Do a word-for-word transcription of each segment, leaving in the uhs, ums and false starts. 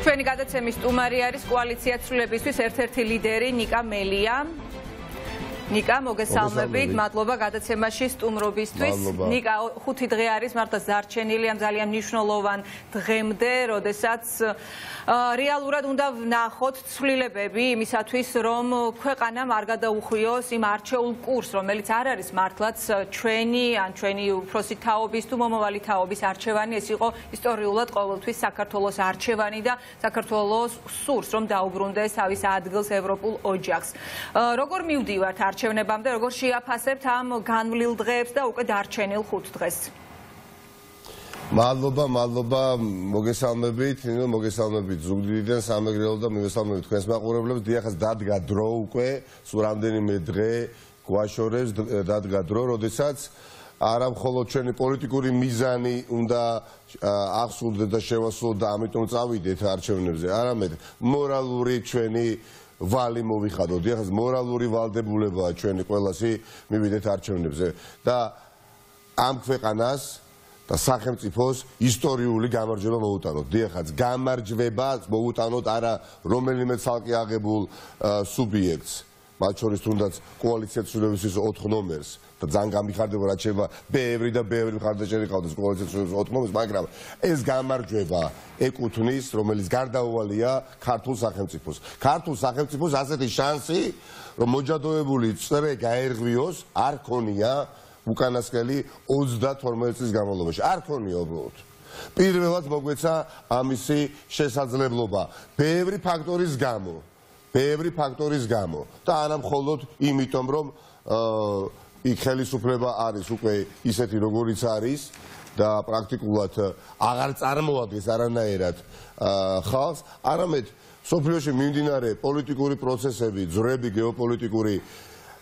ჩვენი გადაცემის სტუმარი არის კოალიცია ცვლილებისთვის ერთ-ერთი ლიდერი ნიკა მელია. ნიკა, მოგესალმებით, მადლობა გადაცემაში სტუმრობისთვის. ნიკა ხუთი დღე არის მართლა დარჩენილი ამ ძალიან მნიშვნელოვან დღემდე, როდესაც რეალურად უნდა ვნახოთ ცვლილებები იმისათვის, რომ ქვეყანამ არ გადაუხვიოს იმ არჩეულ კურსს, რომელიც არ არის მართლაც ჩვენი ან ჩვენი უფროსი თაობის თუ მომავალი თაობის არჩევანი, ეს იყო ისტორიულად ყოველთვის საქართველოს არჩევანი და საქართველოს სურს, რომ დაუბრუნდეს თავის ადგილს ევროპულ ოჯახს. როგორ მივდივართ არჩევნებამდე, როგორ შეაფასებთ ამ განვლილ დღეებს და უკვე დარჩენილ ხუთ დღეს? მადლობა, მადლობა, მოგესალმებით, მოგესალმებით ზუგდიდიდან, სამეგრელო და მივესალმებით თქვენს მაყურებლებს. დიახაც დადგა დრო უკვე, სულ რამდენიმე დღე გვაშორებს, დადგა დრო, როდესაც არა მხოლოდ ჩვენი პოლიტიკური მიზანი უნდა აღსრულდეს და შევასრულოთ და ამიტომ წავიდეთ არჩევნებზე, არამედ მორალური ჩვენი ვალი მოვიხადოთ. დიახაც მორალური ვალდებულებაა ჩვენი ყველასი მივიდეთ არჩევნებზე და ამ ქვეყანას და სახელმწიფოს ისტორიული გამარჯვება მოუტანოთ. დიახაც გამარჯვება მოუტანოთ არა რომელიმე ცალკე აღებულ სუბიექტს, მათ შორის თუნდაც კოალიცია ცვლილებისთვის ოთხ ნომერს და ძალიან გამიხარდება რაც შეება ბევრი და ბევრი მხარდაჭერი ყავდეს კოალიცია ცვლილებისთვის ოთხ ნომერს, მაგრამ ეს გამარჯვება ეკუთვნის, რომელიც გარდაუვალია ქართულ სახელმწიფოს. ქართულ სახელმწიფოს ასეთი შანსი, რომ მოჯადოებული წრე გაერღვიოს, არ ქონია უკანასკნელი ოცდათორმეტი წლის განმავლობაში. არ ქონია უბრალოდ. პირველად მოგვეცა ამისი შესაძლებლობა ბევრი ფაქტორის გამო. ბევრი ფაქტორის გამო და არა მხოლოდ იმიტომ, რომ იქ ხელისუფლება არის უკვე ისეთი როგორიც არის და პრაქტიკულად აღარ წარმოადგენს არანაირად ხალხს, არამედ სოფლიოში მიმდინარე პოლიტიკური პროცესები, ძვრები, გეოპოლიტიკური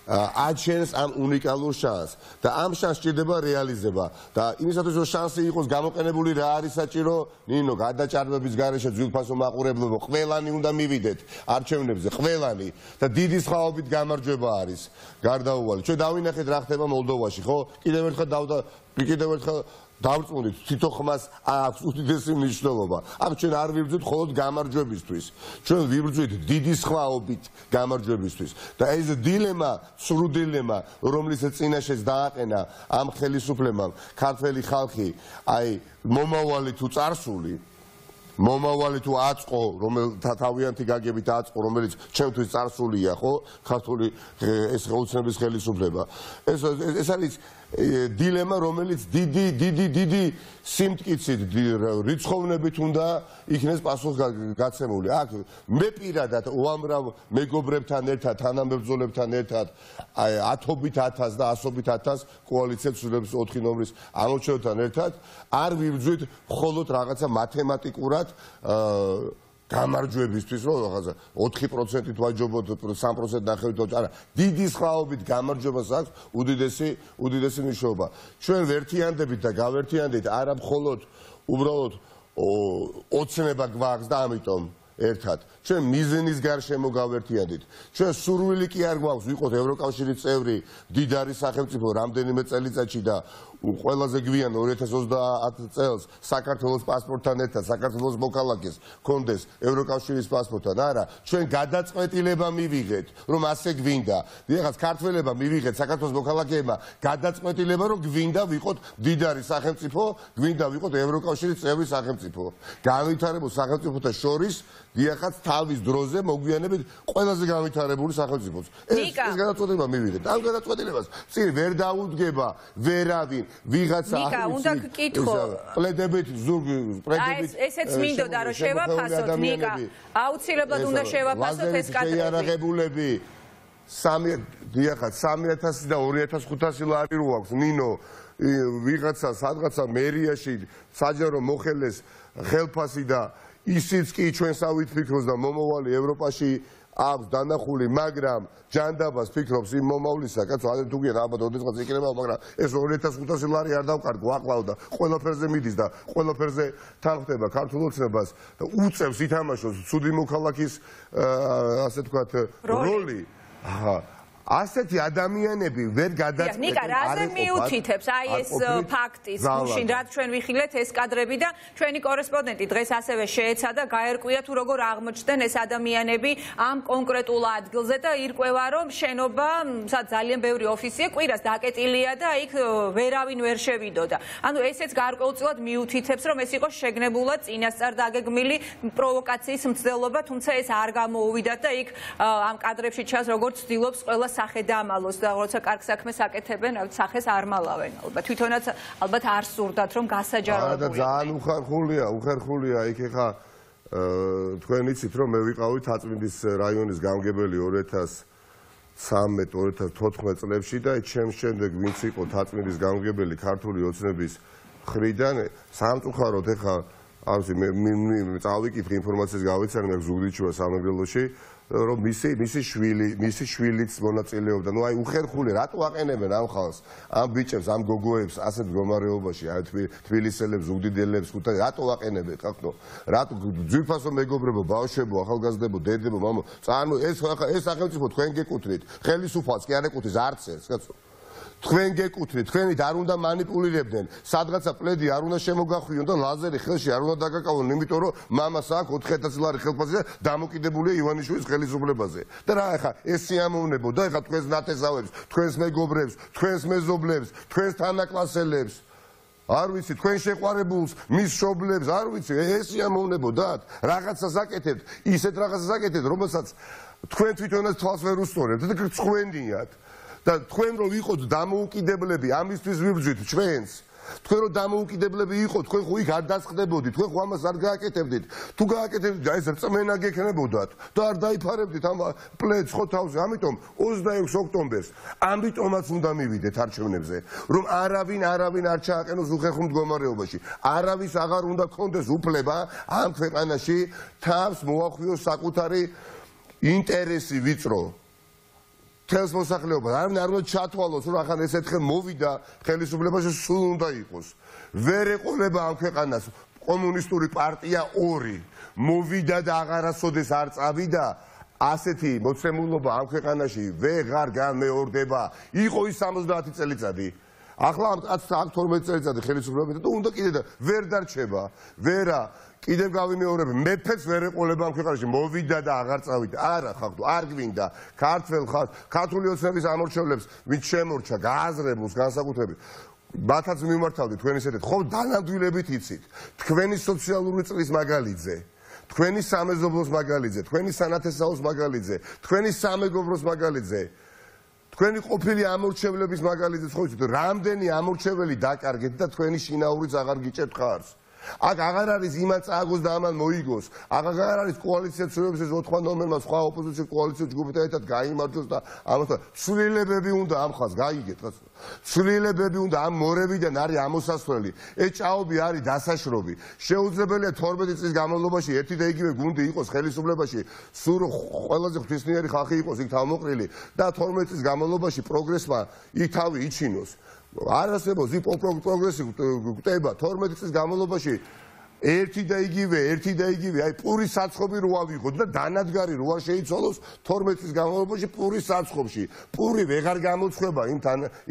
აჩენს ამ უნიკალურ შანსს და ამ შანსს სჭირდება რეალიზება და იმისათვის რომ შანსი იყოს გამოყენებული რა არის საჭირო? ნინო, გადაჭარბების გარეშე ძვირფასო მაყურებლებო, ყველანი უნდა მივიდეთ არჩევნებზე, ყველანი და დიდი სხვაობით გამარჯვება არის გარდაუვალი. ჩვენ დავინახეთ რა ხდება მოლდოვაში, ხო? კიდევ ერთხელ დავდა კიდევ ერთხელ დავწმუნდით, თვითონ ხმას აქვს უდიდესი მნიშვნელობა. აქ ჩვენ არ ვიბრძვით მხოლოდ გამარჯვებისთვის, ჩვენ ვიბრძვით დიდი სხვაობით გამარჯვებისთვის და ეს დილემა, სრულ დილემა, რომლის წინაშეც დააყენა ამ ხელისუფლებამ ქართველი ხალხი, აი მომავალი თუ წარსული, მომავალი თუ აწყო, რომელთა თავიანთი გაგებით აწყო, რომელიც ჩემთვის წარსულია, ხო? ქართული ეს ოცნების ხელისუფლება. ეს ეს არის დილემა, რომელიც დიდი დიდი დიდი სიმტკიცით, რიცხოვნებით უნდა იქნეს პასუხგაცემული. აქ მე პირადად უამრავ მეგობრებთან ერთად, თანამებრძოლებთან ერთად, ათობით ათას და ასობით ათას კოალიცია ცვლილების ოთხი ნომრის ამორჩევლთან ერთად არ ვიბრძვით მხოლოდ რაღაცა მათემატიკურად გამარჯვებისთვის, რომ რაღაცა ოთხი პროცენტით ვაჯობოთ, სამი პროცენტი ნახევრით, არა, დიდი სხვაობით გამარჯვებას აქვს უდიდესი უდიდესი მნიშვნელობა. ჩვენ ვერთიანდებით და გავერთიანდით არა მხოლოდ უბრალოდ ოცნება გვაქვს და ამიტომ ერთად. ჩვენ მიზნის გარშემო გავერთიანდით. ჩვენ სურვილი კი არ გვაქვს ვიყოთ ევროკავშირის წევრი, მდიდარი სახელმწიფო რამდენიმე წელიწადში და ყველაზე გვიან ორი ათას ოცდაათ წელს საქართველოს პასპორტთან ერთად საქართველოს მოქალაქეს კონდეს ევროკავშირის პასპორტთან. არა, ჩვენ გადაწყვეტილება მივიღეთ, რომ ასე გვინდა. დიახაც ქართველებმა მივიღეთ საქართველოს მოქალაქეებმა გადაწყვეტილება, რომ გვინდა ვიყოთ მდიდარი სახელმწიფო, გვინდა ვიყოთ ევროკავშირის წევრი სახელმწიფო. განვითარებულ სახელმწიფოთა შორის დიახაც თავის დროზე მოგვიანებით ყველაზე განვითარებული სახელმწიფოს. ეს გადაწყვეტილება მივიღეთ. ამ გადაწყვეტილებას წინ ვერ დაუდგება ვერავინ. ვიღაცა ნიკა, უნდა გკითხო. პლედებით ზურგ, პლედებით. ესეც მინდოდა რომ შევაფასოთ, ნიკა. აუცილებლად უნდა შევაფასოთ ეს კადრები. შეიარაღებულები სამი დიახაც სამი ათასი და ორი ათას ხუთასი ლარი რო აქვს, ნინო, ვიღაცა სადღაცა მერიაში საჯარო მოხელეს ხელფასი და ისიც კი ჩვენსავით ფიქრობს და მომავალი ევროპაში აქვს დანახული, მაგრამ ჯანდაბას ფიქრობს იმ მომავლისა, კაცო, ადრე თუ გიან ალბათ ოდესღაც იქნება, მაგრამ ეს ორი ათას ხუთასი ლარი არ დავკარგო, აყლავდა, ყველაფერზე მიდის და ყველაფერზე თანხდება ქართულ ოცნებას და უწევს ითამაშოს ცუდი მოქალაქის ასე თქვათ როლი. აჰა, ასეთი ადამიანები ვერ გადაწყვეტენ. ნიკა, რაზე მიუთითებს აი ეს ფაქტის გუშინ რაც ჩვენ ვიხილეთ ეს კადრები და ჩვენი კორესპონდენტი დღეს ასევე შეეცადა გაერკვია თუ როგორ აღმოჩნდნენ ეს ადამიანები ამ კონკრეტულ ადგილზე და ირკვევა რომ შენობა სადაც ძალიან ბევრი ოფისია კვირას დაკეტილია და იქ ვერავინ ვერ შევიდოდა. ანუ ესეც გარკვეულწილად მიუთითებს რომ ეს იყო შეგნებულად წინასწარ დაგეგმილი პროვოკაციის მცდელობა, თუმცა ეს არ გამოუვიდათ და იქ ამ კადრებში ჩანს როგორც ცდილობს ყველა სახე დამალოს და როცა კარგ საქმეს აკეთებენ, სახეს არ მალავენ ალბათ. თვითონაც ალბათ არ სურდათ რომ გასაჯაროებულიყო. და ძალიან უხერხულია, უხერხულია იქ ხა თქვენ იცით რომ მე ვიყავი თაწმინდის რაიონის გამგებელი ორი ათას ცხრამეტ ორი ათას თოთხმეტ წლებში და ჩემს შემდეგ ვინც იყო თაწმინდის გამგებელი ქართული ოცნების მხრიდან სამწუხაროდ ხა არის მე მე წავიკითხე ინფორმაციას გავიცანი მე ზუგდიდში სამეგრელოში რომ მისი მისი შვილი მისი შვილიც მონაწილეობდა. ნუ აი უხერხული რატო აყენებენ ამ ხალხს, ამ ბიჭებს, ამ გოგოებს ასეთ მდგომარეობაში, აი თბილისელებს, ზუგდიდელებს, ხუთაი რატო აყენებენ ხალხო? რატო ძვირფასო მეგობრებო, ბავშვებო, ახალგაზრდებო, დედებო, მამო, წანო ეს ეს სახელმწიფო თქვენ გეკუთვნით, ხელისუფალს კი არ ეკუთვნის არც ერთს, კაცო. თქვენ გეკუთვნით, თქვენით არ უნდა манипуლირებდნენ, სადღაცა პლედი არ უნდა შემოგახვიონ და ლაზერი ხელში არ უნდა დაგაკავონ, იმიტომ რომ მამას აქვს ოთხი ათასი ლარი ხელფასი და დამოკიდებულია ივანიშვილის ხელისუფლებაზე. და რა ახლა ეს სიამოვნებო და ახლა თქვენს ნათესავებს, თქვენს მეგობრებს, თქვენს მეზობლებს, თქვენს თანაკლასელებს არ ვიცი, თქვენ შეყვარებულს, მის მშობლებს, არ ვიცი, ეს სიამოვნებოდათ, რაღაცას აკეთებთ, ისეთ რაღაცას აკეთებთ, რომელსაც თქვენ თვითონაც თვალს ვერ უსწორებთ და გწხვენდიათ. და თქვენ რომ იყოთ დამოუკიდებლები ამისთვის ვიბრძვით ჩვენს თქვენ რომ დამოუკიდებლები იყოთ თქვენ ხო იქ არ დასხდებოდით თქვენ ხო ამას არ გააკეთებდით თუ გააკეთებდით აი ეს რწმენა გექნებოდათ და არ დაიფარებდით ამ პლედს ხო თავზე ამიტომ ოცდაექვსი ოქტომბერს ამიტომაც უნდა მივიდეთ არჩევნებზე რომ არავინ არავინ არ ჩააყენოს უხერხულ მდგომარეობაში არავის აღარ უნდა გქონდეს უფლება ამ ქვეყანაში თავს მოახვიოს საკუთარი ინტერესი ვიწრო თელს მოსახლეობა არავინ არ უნდა ჩათვალოს რომ ახლა ეს ერთხელ მოვიდა ხელისუფლებაში სულ უნდა იყოს ვერ ეყოლება ამ ქვეყანას კომუნისტური პარტია ორი მოვიდა და აღარასოდეს არ წავიდა ასეთი მოცემულობა ამ ქვეყანაში ვეღარ განმეორდება იყო ის სამოცდაათი წელიწადი ახლა ამ თორმეტი წელიწადი ხელისუფლება და უნდა კიდე და ვერ დარჩება ვერა კიდევ გავიმეორებ მეფეც ვერ ეყოლება ამ ქვეყანაში მოვიდა და აღარ წავიდა არა ხალხო არ გვინდა ქართველ ხალხს ქართული ოცნების ამორჩევლებს ვინც შემორჩა გააზრებულს განსაკუთრებით მათაც მიმართავდით თქვენ ისეთეთ ხო დანამდვილებით იცით თქვენი სოციალური წრის მაგალითზე თქვენი სამეზობლოს მაგალითზე თქვენი სანათესაოს მაგალითზე თქვენი სამეგობროს მაგალითზე თქვენი ყოფილი ამორჩევლების მაგალითზე ხო იცით რამდენი ამორჩეველი დაკარგეთ და თქვენი შინაურიც აღარ გიჭერთ ხარს აქ აღარ არის იმან წააგოს და ამან მოიგოს აღარ არის კოალიცია ცვლილებების ეს ოთხმა ნომერმა სხვა ოპოზიციის კოალიციის ჯგუფთან ერთად გაიმარჯვოს და ამასთან ცვლილებები უნდა ამ ხალხს გაიგეთ რა ცვლილებები უნდა ამ მორევიდან არის ამოსასვლელი ეს ჭაობი არის დასაშრობი შეუძლებელია თორმეტი წლის განმავლობაში ერთი და იგივე გუნდი იყოს ხელისუფლებაში სულ ყველაზე ღვთისმიერი ხალხი იყოს იქ თავმოყრილი და თორმეტი წლის განმავლობაში პროგრესმა იქ თავი იჩინოს არ არსებობს ის პროგრესი გვტება თორმეტი წლის განმავლობაში ერთი და იგივე ერთი და იგივე აი პურის საცხობი რო ავიღოთ და დანადგარი რო არ შეიცვალოს თორმეტი წლის განმავლობაში პურის საცხობში პური ვეღარ გამოცხება იმ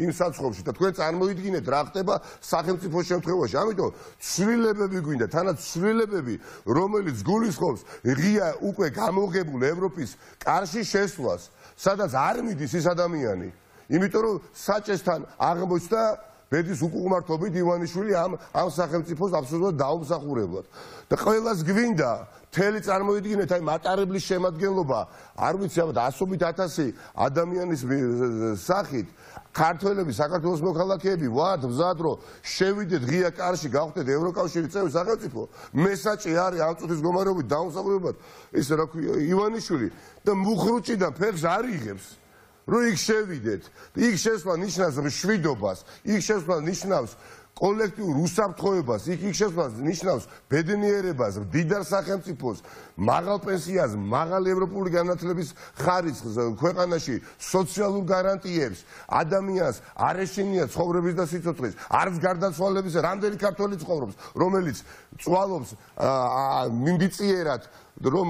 იმ საცხობში და თქვენ წარმოიდგინეთ რა ხდება სახელმწიფო შემთხვევაში ამიტომ ცვლილებები გვინდა თანაც ცვლილებები რომელიც გულისხმობს ღია უკვე გამოღებულ ევროპის კარში შესვლას სადაც არ მიდის ის ადამიანი იმიტომ რომ საჭესთან აღმოჩნდა ბედის უკუღმართობით ივანიშვილი ამ ამ სახელმწიფოს აბსოლუტურად დაუმსახურებლად და ყველას გვინდა მთელი წარმოიდგინეთ აი მატარებლის შემადგენლობა არ ვიცი ალბათ ასობით ათასი ადამიანის სახით ქართველები საქართველოს მოქალაქეები ვართ მზად რომ შევიდეთ ღია კარში გავხდეთ ევროკავშირის წევრი სახელმწიფო მესაჭი არის ამ წუთის მდგომარეობით დაუმსახურებლად ეს რა ქვია ივანიშვილი და მუხრუჭიდან ფეხს არ იღებს რო იქ შევიდეთ იქ შესვლა ნიშნავს მშვიდობას იქ შესვლა ნიშნავს კოლექტიურ უსაფრთხოებას იქ იქ შესვლა ნიშნავს ბედნიერებას მდიდარ სახელმწიფოს მაღალ პენსიას მაღალ ევროპული განათლების ხარისხს ქვეყანაში სოციალურ გარანტიებს ადამიანს არ ეშინია ცხოვრების და სიცოცხლის არც გარდაცვალების რამდენი ქართველი ცხოვრობს რომელიც წვალობს მიმდიციერად რომ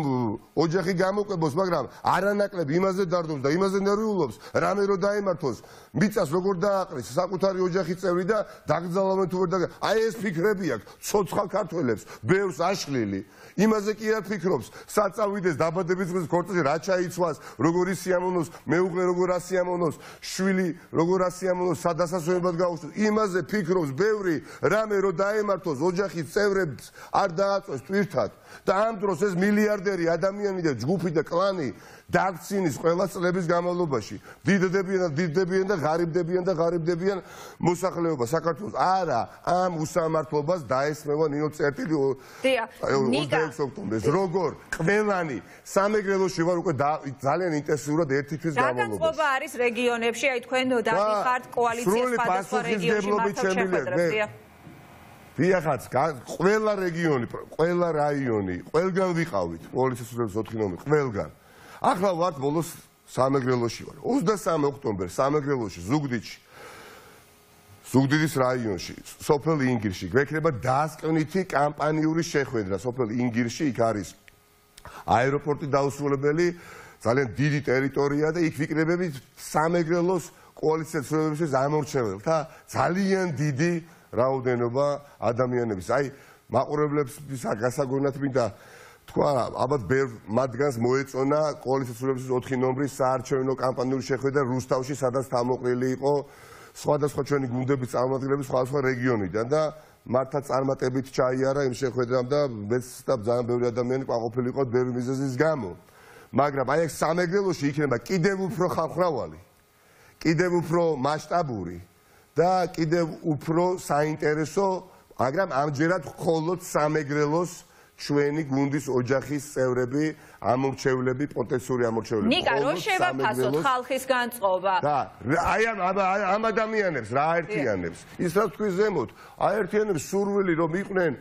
ოჯახი გამოკვებოს, მაგრამ არანაკლებ იმაზე დარდობს და იმაზე ნერვიულობს, რამე რო დაემართოს, მიწას როგორ დააყრის საკუთარი ოჯახის წევრი და დაგძალავენ თუ ვერ და აი ეს ფიქრები აქვს ცოცხალ ქართველებს, ბევრს აშლილი. იმაზე კი არ ფიქრობს, საწავიდეს დაბადების დღის ქორწილში რა ჩაიცვას, როგორ ისიამოვნოს, მეუღლე როგორ ასიამოვნოს, შვილი როგორ ასიამოვნოს, სადასასვენებლად გაუშვეს. იმაზე ფიქრობს ბევრი, რამე რო დაემართოს ოჯახის წევრებს არ დააწვეს ტვირთად. და ამ დროს ეს მილიარდერი ადამიანი და ჯგუფი და კლანი დაქცინის ყველა წლების განმავლობაში დიდდებიან და დიდდებიან და ღარიბდებიან და ღარიბდებიან მოსახლეობა საქართველოს. არა, ამ უსამართლობას დაესმევა ნინო წერტილი ოცდაექვსი ოქტომბერს. როგორ ყველანი სამეგრელოში ვარ უკვე ძალიან ინტენსიურად ერთი თვის განმავლობაში. გადაწყობა არის რეგიონებში, აი თქვენ დამიხართ კოალიციას სხვადასხვა რეგიონში მართო შეხვედრებს. დიახაც, ყველა რეგიონი, ყველა რაიონი, ყველგან ვიყავით, პოლიციის სრულების ოთხი ნომერი, ყველგან. ახლა ვართ ბოლოს სამეგრელოში ვარ. ოცდასამი ოქტომბერს სამეგრელოში, ზუგდიდში, ზუგდიდის რაიონში, სოფელ ინგირში, გვექნება დასკვნითი კამპანიური შეხვედრა სოფელ ინგირში, იქ არის აეროპორტი დაუსრულებელი, ძალიან დიდი ტერიტორია და იქ ვიკრებებით სამეგრელოს კოალიციის სრულების ამორჩეველთა ძალიან დიდი რაოდენობა ადამიანების. აი, მაყურებლებს გასაგონად მინდა თქვა, ალბათ ბევრ მათგანს მოეწონა კოალიციის სრულების ოთხი ნომრის საარჩევნო კამპანიური შეხვედრა რუსთავში, სადაც თავმოყრილი იყო სხვადასხვა ჩვენი გუნდების წარმომადგენლები სხვადასხვა რეგიონიდან და მართლა წარმატებით ჩაიარა იმ შეხვედრამ და მეც და ძალიან ბევრი ადამიანი ყვაყოფილი იყო ბევრი მიზეზის გამო. მაგრამ აი ეს სამეგრელოში იქნება კიდევ უფრო ხალხმრავალი, კიდევ უფრო მასშტაბური და კიდევ უფრო საინტერესო, მაგრამ ამჯერად მხოლოდ სამეგრელოს ჩვენი გუნდის ოჯახის წევრები, ამორჩევლები, პოტენციური ამორჩევლები. ნიკა, რო შევაფასოთ ხალხის განწყობა. და აი ამ ამ ადამიანებს რა აერთიანებს? ის რაც თქვი ზემოთ, აერთიანებს სურვილი რომ იყვნენ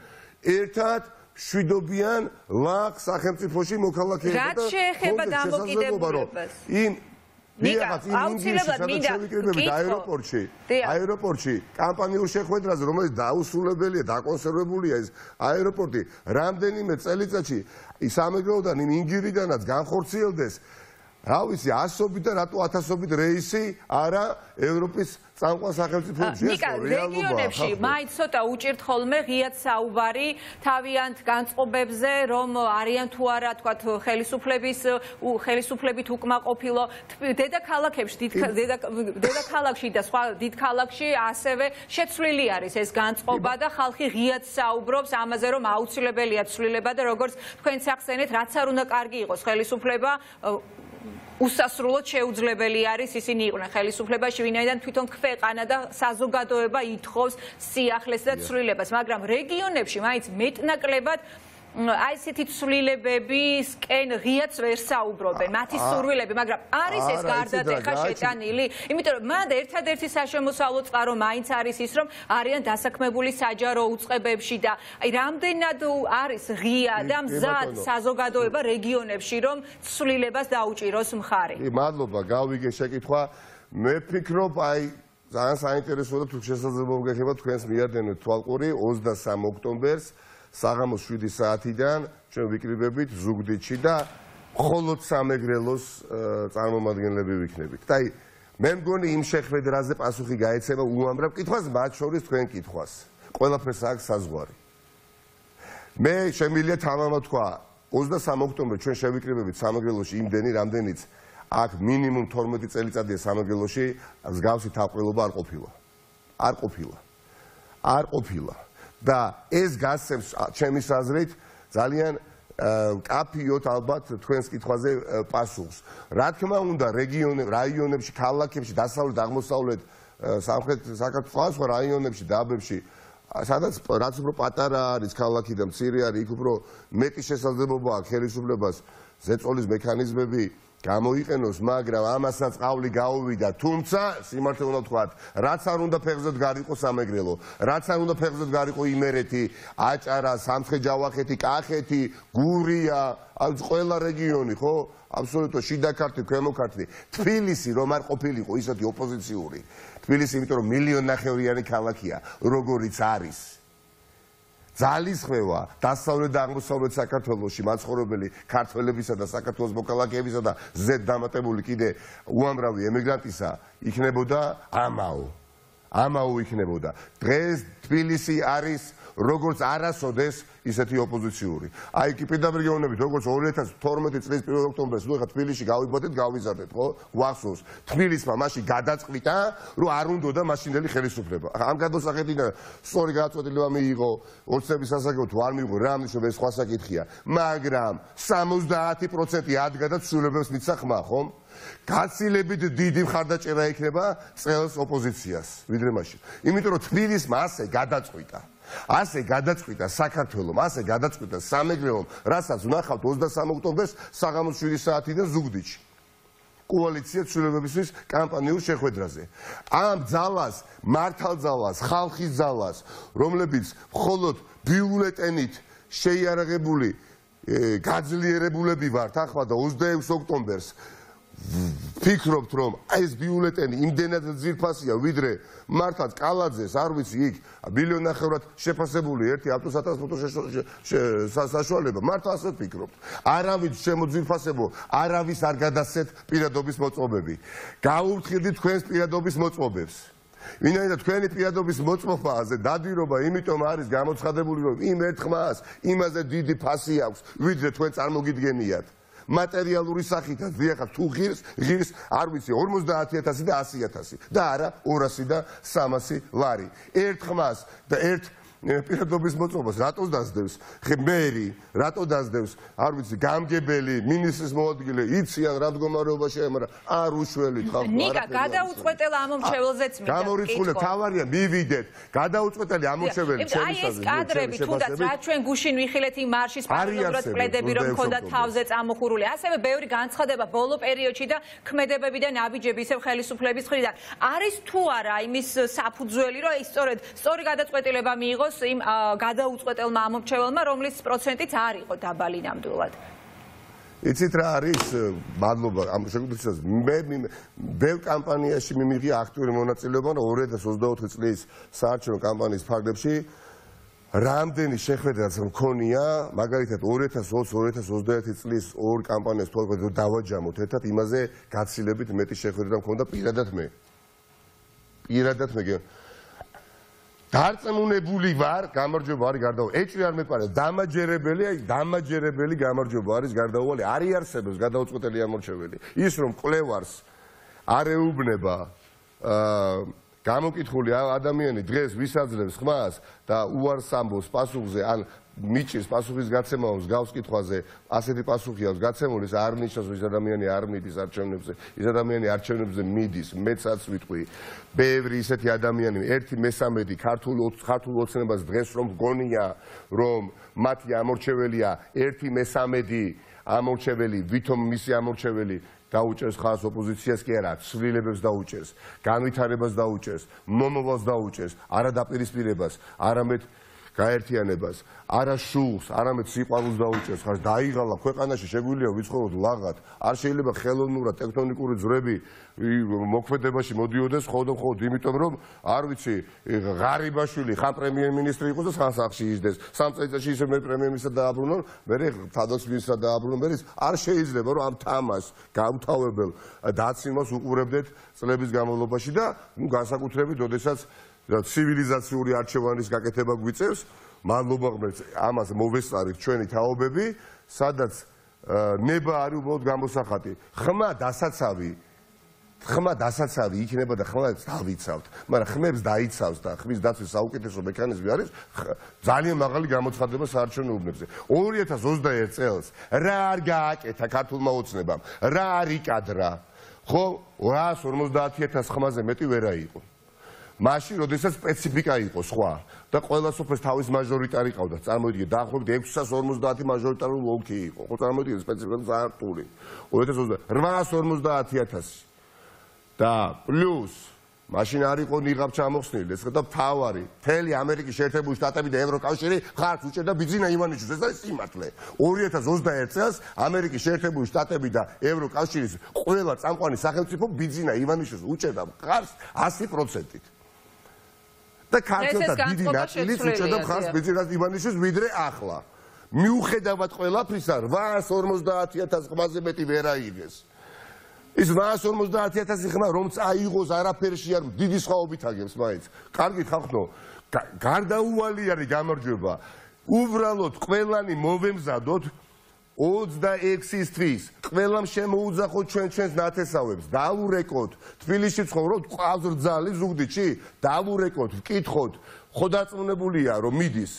ერთად შვიდობიან ლაღ სახელმწიფოში მოქალაქეები და რაც შეეხება დამოკიდებულებას. იმ ნიკა, აუცილებლად მინდა აეროპორტში, აეროპორტში კამპანიურ შეხვედრაზე, რომელიც დაუსრულებელია, დაკონსერვებულია ეს აეროპორტი, რამდენიმე წელიწადში სამეგრელოდან იმ ინგირიდანაც განხორციელდეს, რა ვიცი, ასობით და რატო ათასობით რეისი არა ევროპის წამყვან სახელმწიფოებში. ნიკა, რეგიონებში მაინც ცოტა უჭირთ ხოლმე ღიად საუბარი თავიანთ განწყობებზე, რომ არიან თუ არა, თქვათ, ხელისუფლების ხელისუფლებით უკმაყოფილო დედაქალაქებში, დედაქალაქში და სხვა დიდ ქალაქში ასევე შეცვლილი არის ეს განწყობა და ხალხი ღიად საუბრობს ამაზე, რომ აუცილებელია ცვლილება და როგორც თქვენც ახსენეთ, რაც არ უნდა კარგი იყოს ხელისუფლება უსასრულოდ შეუძლებელი არის ისინი იყვნენ ხელისუფლებაში, ვინაიდან თვითონ ქვეყანა და საზოგადოება ითხოვს სიახლეს და ცვლილებას, მაგრამ რეგიონებში მაინც მეტნაკლებად აი ესეთი ცვლილებებისკენ ღიად ვერ საუბრობენ, მათი სურვილები, მაგრამ არის ეს გარდატეხა შეტანილი, იმიტომ რომ მანდ ერთადერთი საშემოსავლო წყარო მაინც არის ის, რომ არიან დასაქმებული საჯარო უწყებებში და აი რამდენად არის ღია და მზად საზოგადოება რეგიონებში, რომ ცვლილებას დაუჭიროს მხარი. მადლობა, გავიგე შეკითხვა. მე ვფიქრობ, აი ძალიან საინტერესოა და თუ შესაძლებლობა გექნება თქვენს მიადენოთ თვალყური ოცდასამი ოქტომბერს საღამოს შვიდი საათიდან ჩვენ ვიკრიბებით ზუგდიდში და მხოლოდ სამეგრელოს წარმომადგენლები ვიქნებით. და აი მე მგონი იმ შეხვედრაზე პასუხი გაეცემა უამრავ კითხვას, მათ შორის თქვენ კითხვას. ყველაფერს აქვს საზღვარი. მე შემიძლია თამამად თქვა, ოცდასამი ოქტომბერს ჩვენ შევიკრიბებით სამეგრელოში იმდენი, რამდენიც აქ მინიმუმ თორმეტი წელიწადია სამეგრელოში მსგავსი თავყრილობა არ ყოფილა. არ ყოფილა. არ ყოფილა. და ეს გასცემს ჩემის აზრით ძალიან კაფიოთ ალბათ თქვენს კითხვაზე პასუხს. რა თქმა უნდა, რაიონებში, ქალაქებში, დასავლეთ, აღმოსავლეთ, სამხრეთ საქართველოს სხვა რაიონებში, დაბებში, სადაც რაც უფრო პატარა არის ქალაქი და მცირე არის, იქ უფრო მეტი შესაძლებლობა აქვს ხელისუფლებას ზეწოლის მექანიზმები გამოიყენოს, მაგრამ ამასაც ყავლი გაუვიდა, თუმცა სიმართლე უნდა ვთქვათ, რაც არ უნდა ფეხზედ გარიყო სამეგრელო, რაც არ უნდა ფეხზედ გარიყო იმერეთი, აჭარა, სამცხე-ჯავახეთი, კახეთი, გურია, ყველა რეგიონი, ხო? აბსოლუტურად შიდა ქართლი, ქვემო ქართლი, თბილისი რომ არ ყოფილიყო ისეთი ოპოზიციური. თბილისი, იმიტომ რომ მილიონნახევრიანი ქალაქია, როგორიც არის. ძალისხმევა დასავლეთ და აღმოსავლეთ საქართველოში მაცხოვრებელი ქართველებისა და საქართველოს მოქალაქეებისა და ზედ დამატებული კიდე უამრავი ემიგრანტისა იქნებოდა ამაო. ამაო იქნებოდა. დღეს თბილისი არის როგორც არასოდეს ისეთი ოპოზიციური. აი კი პირდაპირ გეუბნებით, როგორც ორი ათას თორმეტი წლის პირველ ოქტომბერს, ნუ ეხლა თბილისში გავიბოდეთ, გავიზარდეთ, ხო? გვახსოვს. თბილისმა მაშინ გადაწყვიტა, რომ არ უნდოდა მაშინდელი ხელისუფლება. ამ გადასახედიდან სწორი გადაწყვეტილება მიიღო, ოცნების სასაგებო არ მიიღო, რა ამნიშნებს ეს სხვა საკითხია. მაგრამ სამოცდაათი პროცენტი ადგა და ცვლილებებს მისცა ხმა, ხომ? გაცილებით დიდი მხარდაჭერა იქნება წელს ოპოზიციას, ვიდრე მაშინ. იმიტომ რომ თბილისმა ასე გადაწყვიტა. ასე გადაწყვიტა საქართველომ, ასე გადაწყვიტა სამეგრელომ, რასაც ვნახავთ ოცდასამი ოქტომბერს საღამოს შვიდი საათიდან ზუგდიდში. კოალიცია ცვლილებებისთვის კამპანიურ შეხვედრაზე. ამ ძალას, მართალ ძალას, ხალხის ძალას, რომლებიც მხოლოდ ბიულეტენით შეიარაღებული გაძლიერებულები ვართ ახლა და ოცდაექვსი ოქტომბერს ფიქრობთ რომ ეს ბიულეტენი იმდენად ძირფასია ვიდრე მართლაც კალაძეს არ ვიცი იქ მილიონი ნახევრად შეფასებული ერთი ავტოსატრანსპორტო საშუალება მართლა ასე ვფიქრობთ არავის შემოძირფასებო არავის არ გადასცეთ პირადობის მოწყობები გაუვთხილდით თქვენს პირადობის მოწყობებს ვინაიდან თქვენი პირადობის მოწყობაზე დადირობა იმიტომ არის გამოცხადებული რომ იმ ერთხმას იმაზე დიდი ფასი აქვს ვიდრე თქვენ წარმოგიდგენიათ მატერიალური სახითაც დიახ თუ ღირს ღირს არ ვიცი ორმოცდაათი ათასი და ასი ათასი და არა ორასი და სამასი ლარი ერთხმას და ერთ პირადობის მოწყობას რატო დაძდევს მერი რატო დაძდევს არ ვიცი გამგებელი მინისტრის მოადგილე იციან რა მდგომარეობაში მაგრამ არ უშველით ხალხო ნიკა გადაუწყვეტელ ამომრჩეველზეც მინდა გამორიცხული თავარია მივიდეთ გადაუწყვეტელი ამომრჩეველი აი ეს კადრები თუნდაც რა ჩვენ გუშინ ვიხილეთ იმ მარშის პარალელურად პლედები რომ ქონდა თავზე წამოხურული ასევე ბევრი განცხადება ბოლო პერიოდში და ქმედებები და ნაბიჯები ისევ ხელისუფლების მხრიდან არის თუ არა იმის საფუძველი რომ ის სწორედ სწორი გადაწყვეტილება მიიღოს იმ გადაუწყვეტელმა ამომრჩეველმა, რომლის პროცენტიც არ იყო დაბალი ნამდვილად. იცით რა არის? მადლობა ამ შეგვიძლია მე ბევრ კამპანიაში მიმიღია აქტიური მონაწილეობა და ორი ათას ოცდაოთხი წლის საარჩევნო კამპანიის ფარგლებში რამდენი შეხვედრაც მქონია, მაგალითად ორი ათას ოცი ორი ათას ოცდაერთი წლის ორ კამპანიას თვალყურით დავაჯამოთ ერთად იმაზე გაცილებით მეტი შეხვედრა მქონდა პირადად მე. პირადად მე დარწმუნებული ვარ, გამარჯვება არის გარდაუვალი. ეჭვი არ მეპარა, დამაჯერებელი, აი დამაჯერებელი გამარჯვება არის გარდაუვალი. არ იარსებებს გადაუწყვეტელი ამორჩეველი. ის რომ კვლევარს არ ეუბნება გამოკითხული ადამიანი დღეს ვისაძლევს ხმას და უარს ამბობს პასუხზე, ან მიჭირს პასუხის გაცემას გავს კითხვაზე, ასეთი პასუხი აქვს გაცემული, ეს არ ნიშნავს, რომ ის ადამიანი არ მიდის არჩევნებზე, ის ადამიანი არჩევნებზე მიდის, მეცაც ვიტყვი. ბევრი ისეთი ადამიანი, ერთი მესამედი ქართულ ქართულ ოცნებას დღეს რომ გონია, რომ მათი ამორჩეველია ერთი მესამედი ამორჩეველი, ვითომ მისი ამორჩეველი დაუჭერს ხალხს ოპოზიციას კი არა, ცვლილებებს დაუჭერს, განვითარებას დაუჭერს, მომავალს დაუჭერს, არა დაპირისპირებას, არამედ გაერთიანებას, არა შულს, არამედ სიყვარულს დაუჭერს, ხარ დაიღალა ქვეყანაში შეგვიძლია ვიცხოვროთ ლაღად, არ შეიძლება ხელოვნურად ტექტონიკური ძვრები მოქმედებაში მოდიოდეს მხოლოდ მხოლოდ იმიტომ რომ არ ვიცი ღარიბაშვილი ხან პრემიერ-მინისტრი იყოს და ხან სახლში ისდეს, სამ წელიწადში ისე მე პრემიერ-მინისტრად დააბრუნონ, მე თავდაცვის-მინისტრად დააბრუნონ, მე არ შეიძლება რომ ამ თამაშს გამთავებელ დაცინვას უყურებდეთ წლების განმავლობაში და ნუ განსაკუთრებით როდესაც ცივილიზაციური არჩევანის გაკეთება გვიწევს, მადლობა ღმერთს, ამას მოვესწარით ჩვენი თაობები, სადაც ნება არის უბრალოდ გამოსახატი. ხმა დასაცავი, ხმა დასაცავი იქნება და ხმა დავიცავთ, მაგრამ ხმებს დაიცავს და ხმის დაცვის საუკეთესო მექანიზმი არის ძალიან მაღალი გამოცხადება საარჩევნო უბნებზე. ორი ათას ოცდაერთი წელს რა არ გააკეთა ქართულმა ოცნებამ, რა არ იკადრა, ხო ორას ორმოცდაათი ათას ხმაზე მეტი ვერა იყო. მაშინ, როდესაც სპეციფიკა იყო სხვა და ყველა სოფელს თავის მაჟორიტარი ყავდა, წარმოიდგინეთ, დაახლოებით ექვსას ორმოცდაათი მაჟორიტარული ოლქი იყო. ხო, წარმოიდგინეთ, სპეციფიკა ზარტული. ორი ათას ოცდაათი რვაას ორმოცდაათი ათასი. და პლუს მაშინ არ იყო ნიღაბ ჩამოხსნილი, ეს და თავარი, მთელი ამერიკის შეერთებული შტატები და ევროკავშირი ხარს უჭერდა ბიძინა ივანიშვილს, ეს არის სიმართლე. ორი ათას ოცდაერთი წელს ამერიკის შეერთებული შტატები და ევროკავშირის ყველა წამყვანი სახელმწიფო ბიძინა ივანიშვილს უჭერდა ხარს ასი პროცენტით. და ქართველთა დიდი ნაწილიც უჭერდა მხარს ბეძირას ივანიშვილს ვიდრე ახლა. მიუხედავად ყველაფრისა რვაას ორმოცდაათი ათასი ხმაზე მეტი ვერ აიღეს. ის რვაას ორმოცდაათი ათასი ხმა რომ წაიღოს არაფერში არ დიდი სხვაობით აგებს მაინც. კარგით ხალხო, გარდაუვალი არის გამარჯვება. უბრალოდ ყველანი მოვემზადოთ ოცდაექვსისთვის ყველამ შემოუძახოთ ჩვენ ჩვენს ნათესავებს, დავურეკოთ, თბილისში ცხოვრობთ, ყავს რძალი ზუგდიდში, დავურეკოთ, ვკითხოთ, ხო დაწუნებულია რომ მიდის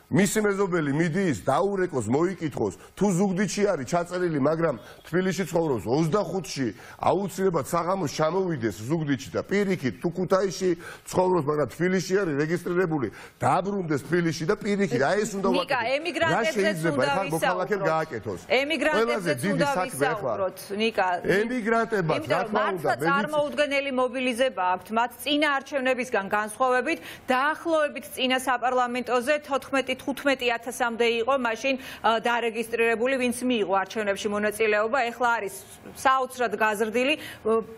მისი მეზობელი მიდის, დაურეკოს, მოიკითხოს, თუ ზუგდიდში არის ჩაწერილი, მაგრამ თბილისში ცხოვრობს ოცდახუთში, აუცილებლად საღამოს ჩამოვიდეს ზუგდიდში და პირიქით თუ ქუთაისში ცხოვრობს, მაგრამ თბილისში არის რეგისტრირებული, დაბრუნდეს თბილისში და პირიქით, აი ეს უნდა ვაკეთოთ. ნიკა, ემიგრანტებზეც უნდა ვისაუბროთ. ემიგრანტებზეც უნდა ვისაუბროთ, ნიკა. ემიგრანტებად, რა თქმა უნდა, წარმოუდგენელი მობილიზება აქვთ, მათ წინა არჩევნებისგან განსხვავებით, დაახლოებით წინა საპარლამენტოზე თოთხმეტი თხუთმეტი ათასამდე იყო მაშინ დარეგისტრირებული, ვინც მიიღო არჩევნებში მონაწილეობა, ეხლა არის საოცრად გაზრდილი.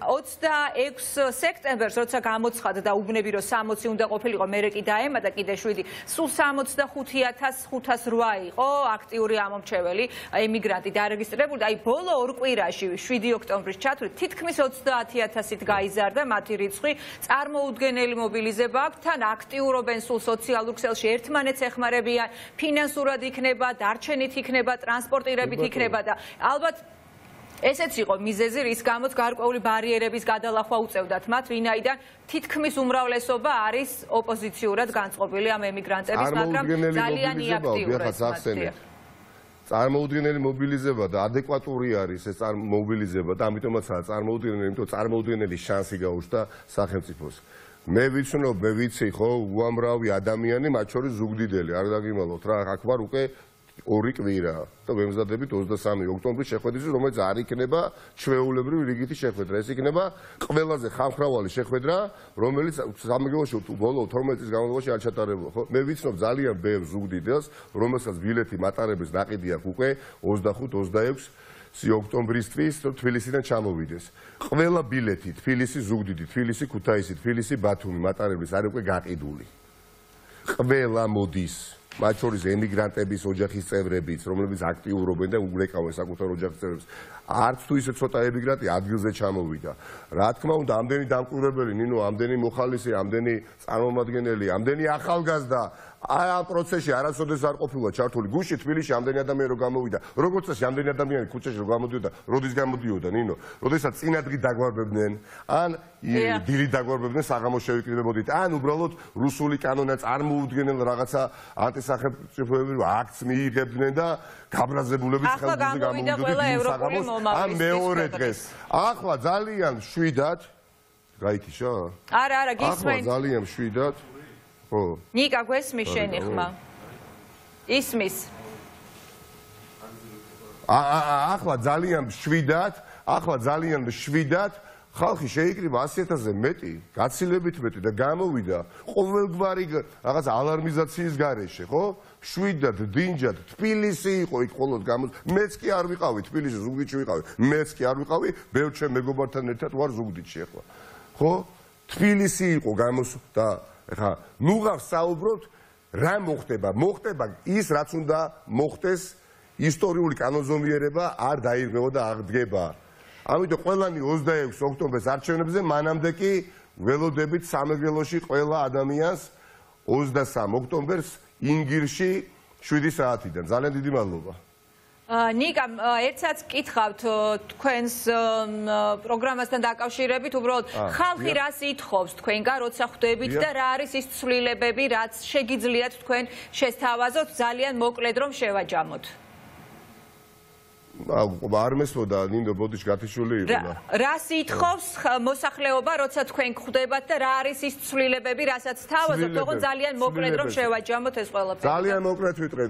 ოცდაექვსი სექტემბერს, როცა გამოცხადა და უბნები რომ სამოცი უნდა ყოფილიყო, მერე კი დაემატა კიდე შვიდი, სულ სამოცდახუთი ათასი ხუთას რვა იყო აქტიური ამომრჩეველი ემიგრანტი დარეგისტრირებული. აი ბოლო ორ კვირაში შვიდი ოქტომბრის ჩათვლით თითქმის ოცდაათი ათასით გაიზარდა მათი რიცხვი. წარმოუდგენელი მობილიზება აქვს, თან აქტიურობენ სულ სოციალურ ქსელში, ერთმანეთს ეხმარებიან, ფინანსურად იქნება, დარჩენით იქნება, ტრანსპორტირებით იქნება და ალბათ ესეც იყო მიზეზი, რის გამოც გარკვეული ბარიერების გადალახვა უწევდათ მათ, ვინაიდან თითქმის უმრავლესობა არის ოპოზიციურად განწყობილი ამ ემიგრანტების, მაგრამ ძალიან იაქტიურეს. წარმოუდგენელი მობილიზება და ადეკვატური არის ეს მობილიზება და ამიტომაცაა წარმოუდგენელი, იმიტომ წარმოუდგენელი შანსი გაუჩნდა სახელმწიფოს. მე ვიცნობ, მე ვიცი ხო, უამრავი ადამიანი, მათ შორის ზუგდიდელი, არ დაგიმალოთ რა, აქ ვარ უკვე ორი კვირა და ვემზადებით ოცდასამი ოქტომბრის შეხვედრისთვის, რომელიც არ იქნება ჩვეულებრივი რიგითი შეხვედრა. ეს იქნება ყველაზე ხალხმრავალი შეხვედრა, რომელიც სამეგრელოში ბოლო თორმეტ წლის განმავლობაში არ ჩატარებულა, ხო? მე ვიცნობ ძალიან ბევრ ზუგდიდელს, რომელსაც ბილეთი მატარების ნაყიდი აქვს უკვე ოცდახუთ ოცდაექვსი ოქტომბრისთვის თბილისიდან ჩამოვიდეს. ყველა ბილეთი თბილისი, ზუგდიდი, თბილისი, ქუთაისი, თბილისი, ბათუმი მატარებლის არის უკვე გაყიდული. ყველა მოდის, მათ შორის ემიგრანტების ოჯახის წევრებიც, რომლებიც აქტიურობენ და ურეკავენ საკუთარ ოჯახის წევრებს. არც თუ ისე ცოტა ემიგრანტი ადგილზე ჩამოვიდა. რა თქმა უნდა, ამდენი დამკვირვებელი, ნინო, ამდენი მოხალისე, ამდენი წარმომადგენელი, ამდენი ახალგაზრდა აი ამ პროცესში არასოდეს არ ყოფილა ჩართული. გუშინ თბილისში ამდენი ადამიანი რო გამოვიდა, როგორც წესი ამდენი ადამიანი ქუჩაში რო გამოდიოდა, როდის გამოდიოდა, ნინო? როდესაც წინადღი დაგვარბებდნენ, ან დილით დაგვარბებდნენ, საღამოს შევიკრიბებოდით, ან უბრალოდ რუსული კანონად წარმოუდგენელ რაღაცა ანტისახელმწიფოებრივ აქტს მიიღებდნენ და გაბრაზებულებით ხელზე გამოვიდოდნენ საღამოს, ან მეორე დღეს. ახლა ძალიან შვიდად, გაიქიშა? არა, არა, გისმენთ. ახლა ძალიან შვიდად. ნიკა, გვესმის შენი ხმა? ისმის. ახლა ძალიან შვიდად, ახლა ძალიან შვიდად ხალხი შეიკრიბა ასი ათასზე მეტი, გაცილებით მეტი და გამოვიდა ყოველგვარი რაღაც ალარმიზაციის გარეშე, ხო? შვიდად, დინჯად, თბილისი იყო იქ მხოლოდ გამოს. მეც კი არ ვიყავი თბილისში, ზუგდიდში ვიყავი. მეც კი არ ვიყავი, ბევრ ჩემ მეგობართან ერთად ვარ ზუგდიდში ახლა. ხო? თბილისი იყო გამოს და ხა, ნუ გავსაუბროთ რა მოხდება? მოხდება ის, რაც უნდა მოხდეს, ისტორიული კანონზომიერება არ დაირღვევა და აღდგება. ამიტომ ყველანი ოცდაექვსი ოქტომბერს არჩევნებზე, მანამდე კი ველოდებით სამეგრელოში ყველა ადამიანს ოცდასამი ოქტომბერს ინგირში შვიდი საათიდან. ძალიან დიდი მადლობა. ნიკა, ერთსაც კითხავთ თქვენს პროგრამასთან დაკავშირებით, უბრალოდ ხალხი რას ითხოვს თქვენგან, როცა ხვდებით და რა არის ის ცვლილებები, რაც შეგიძლიათ თქვენ შესთავაზოთ, ძალიან მოკლედ რომ შევაჯამოთ. არ მესმოდა, ნინო, ბოდიში გათიშული იყო და რას ითხოვს მოსახლეობა, როცა თქვენ ხვდებათ და რა არის ის ცვლილებები, რასაც თავაზობთ, თქო ძალიან მოკლედ რომ შევაჯამოთ ეს ყველაფერი. ძალიან მოკლედ ვიტყვი,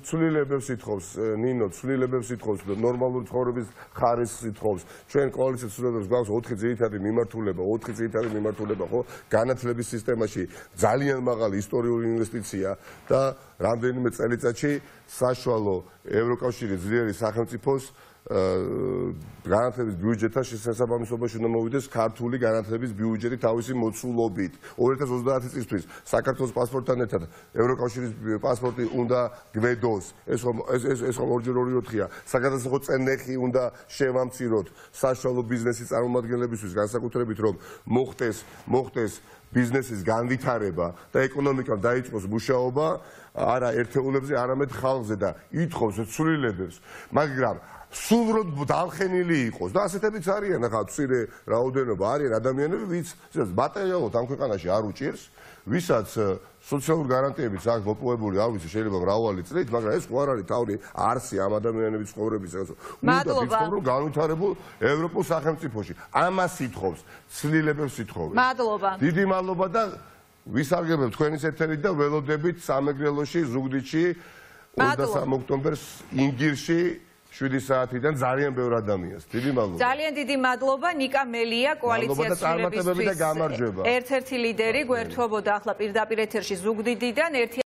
ცვლილებებს ითხოვს, ნინო, ცვლილებებს ითხოვს, ნორმალური ცხოვრების ხარისხს ითხოვს. ჩვენ კოალიციის ცვლილებებს გვაქვს ოთხი ძირითადი მიმართულება, ოთხი ძირითადი მიმართულება, ხო? განათლების სისტემაში ძალიან მაღალი ისტორიული ინვესტიცია და რამდენიმე წელიწადში საშუალო ევროკავშირის ძლიერი სახელმწიფოს განათლების ბიუჯეტთან შესაბამისობაში უნდა მოვიდეს ქართული განათლების ბიუჯეტი თავისი მოცულობით. ორი ათას ოცდაათი წლისთვის საქართველოს პასპორტთან ერთად ევროკავშირის პასპორტი უნდა გვედოს. ეს ეს ეს ორჯერ ორი ოთხია. საგადასახო წენეხი უნდა შევამციროთ საშუალო ბიზნესის წარმომადგენლებისთვის, განსაკუთრებით რომ მოხდეს მოხდეს ბიზნესის განვითარება და ეკონომიკამ დაიწყოს მუშაობა არა ერთეულებზე, არამედ ხალხზე და ითხოვს ცვლილებებს, მაგრამ სულროდ დამხენილი იყოს და ასეთებიც არიან ახლა მცირე რაოდენობა არიან ადამიანები, ვინც მატერიალურად ამ ქვეყანაში არ უჭირს, ვისაც სოციალური გარანტიებიც აქვს მოპოვებული, არ ვიცი, შეიძლება მრავალი წლით, მაგრამ ეს ხო არ არის თავი არსი ამ ადამიანების ცხოვრებისას. უნდა ვიცხოვრო განვითარებულ ევროპულ სახელმწიფოში. ამას ითხოვს, ცვლილებებს ითხოვს. მადლობა. დიდი მადლობა და ვისარგებლებ თქვენის ეთერით და ველოდებით სამეგრელოში, ზუგდიდში, ოცდასამი ოქტომბერს ინგირში შვიდი საათიდან ძალიან ბევრ ადამიანს. დიდი მადლობა. ძალიან დიდი მადლობა ნიკა მელია კოალიციას ცვლილებისთვის ერთ-ერთი ლიდერი გვერდთვებოდა ახლა პირდაპირ ეთერში ზუგდიდიდან.